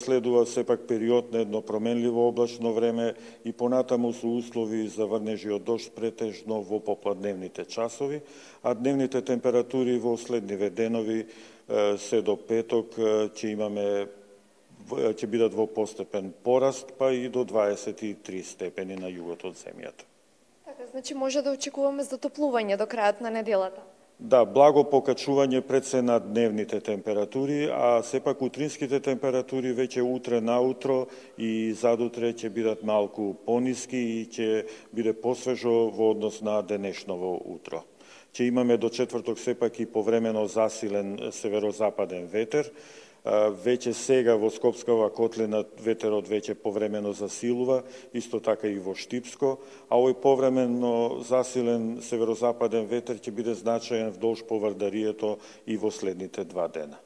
следува сепак период на едно променливо облачно време и понатаму со услови за врнежи од дожд претежно во попладневните часови, а дневните температури во следниве денови се до петок ќе бидат во постепен пораст, па и до 23 степени на југот од земјата. Така, значи може да очекуваме затоплување до крајот на неделата? Да, благо покачување пред се на дневните температури, а сепак утринските температури веќе утре наутро и задутре ќе бидат малку пониски и ќе биде посвежо во однос на денешново утро. Ќе имаме до четврток сепак и повремено засилен северозападен ветер. Веќе сега во Скопскава котлина ветерот веќе повремено засилува, исто така и во Штипско, а овој повремено засилен северозападен ветер ќе биде значаен вдолж Поврдарието и во следните 2 дена.